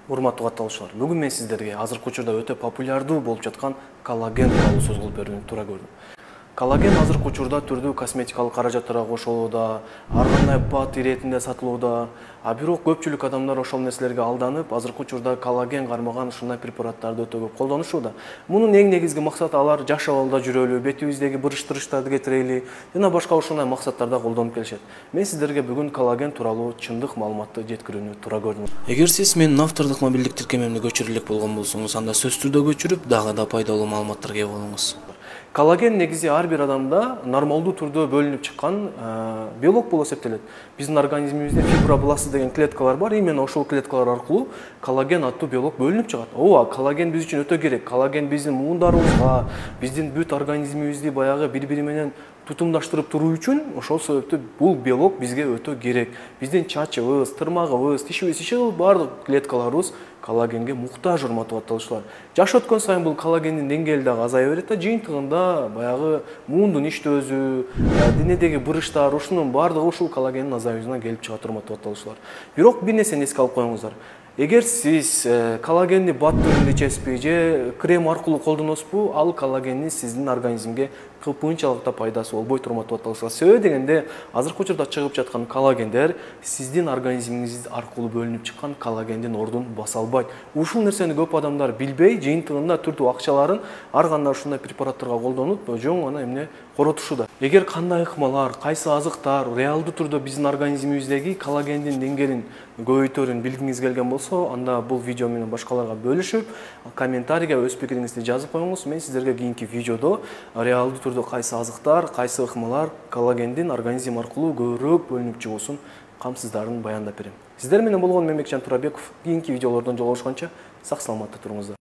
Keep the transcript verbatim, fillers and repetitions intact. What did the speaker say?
Урматтуу катталуучулар, бүгүн мен сиздерге азыркы учурда өтө популярдуу болуп жаткан коллаген тууралуу сөз кылып берүүнү туура көрдүм. Коллаген азыркы учурда түрдүү косметикалык каражаттарга кошулууда, ар кандай бат иретинде сатылууда, а бирок көпчүлүк адамдар ошол нерселерге алданып, азыркы учурда коллаген кармаган ушундай препараттарды өтө көп колдонушууда. Мунун эң негизги максаты алар жаш абалда жүрөлү, бетибиздеги бырыш-тырыштарды кетирели жана башка ушундай максаттарда колдонуп келишет. Мен сиздерге бүгүн коллаген тууралуу чындык маалыматты жеткирүүнү туура көрдүм. Эгер сиз менин автордук мобилдик тиркемемди көчүрө элек болгон болсоңуз, анда сөзсүз түрдө көчүрүп, дагы да пайдалуу маалыматтарга ээ болуңуз. Коллаген негизи ар бир адамда нормалдуу түрдө бөлүнүп чыккан белок болуп эсептелет. Биздин организмибизде фибробласты деген клеткалар бар, именно ошол клеткалар аркылуу коллаген аттуу белок бөлүнүп чыгат. Ооба, коллаген биз үчүн өтө керек. Коллаген биздин муундарыбызга, биздин бүт организмибизди баягы бири-бири менен тутумдаштырып туруу үчүн ошол себептүү бул белок бизге өтө керек. Биздин чачыбыз, тырмагыбыз, тишибиз, иши кылып баардык клеткаларыбыз коллагенге муктаж, урматтуу катталуучулар. Жаш өткөн сайын бул коллагендин деңгээли дагы азая берет да, жыйынтыгында баягы муундун иштөөсү, денедеги бырыштар, ушунун баардыгы ушул коллагендин азаюусунан келип чыгат, урматтуу катталуучулар. Бирок бир нерсени эске алып коюңуздар. Эгер сиз коллагенди бат түрүндө ичесизби же крем аркылуу колдоносузбу, ал коллагендин сиздин организмге кыпынчалык да пайдасы болбойт, урматтуу катталуучулар. Себеби дегенде, азыркы учурда чыгып жаткан коллагендер сиздин организмиңиз аркылуу бөлүнүп чыккан коллагендин ордун баса албайт. Ушул нерсени көп адамдар билбей, жыйынтыгында түрдүү акчаларын ар кандай ушундай препараттарга колдонуп, жоң гана эмне коротушууда. Эгер кандай ыкмалар, кайсы азыктар реалдуу түрдө биздин организмибиздеги коллагендин деңгээлин көбөйтөрүн билгиңиз келген болсо, анда бул видео менен башкаларга бөлүшүп, комментарийге өз пикириңизди жазып коюңуз. Мен сиздерге кийинки видеодо реалдуу түрдө кайсы азыктар, кайсы ыкмалар коллагендин организм аркылуу көбүрөөк бөлүнүп чыгуусун камсыздарын баяндап берем. Сиздер менен болгон Мембекжан Турабеков. Кийинки видеолордон жолугушканча сак саламатта туруңуздар.